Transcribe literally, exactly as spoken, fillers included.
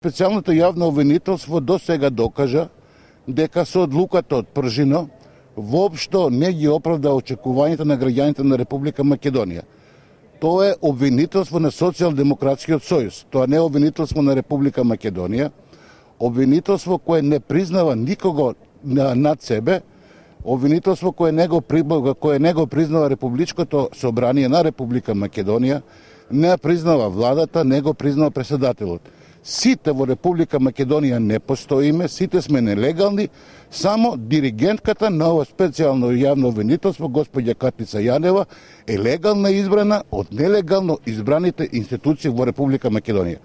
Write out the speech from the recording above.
Специјалното јавно обвинителство до сега докажа дека со одлуката од Пржино воопшто не ги оправда очекувањата на граѓаните на Република Македонија. Тоа е обвинителство на Социјалдемократскиот сојуз, тоа не е обвинителство на Република Македонија, обвинителство кое не признава никого над себе, обвинителство кое не го, кое не го признава Републичкото собрание на Република Македонија, не признава владата, не го признава председателот. Сите во Република Македонија не постоиме, сите сме нелегални, само диригентката на ова специјално јавно обвинителство, господја Катница Јанева, е легална избрана од нелегално избраните институции во Република Македонија.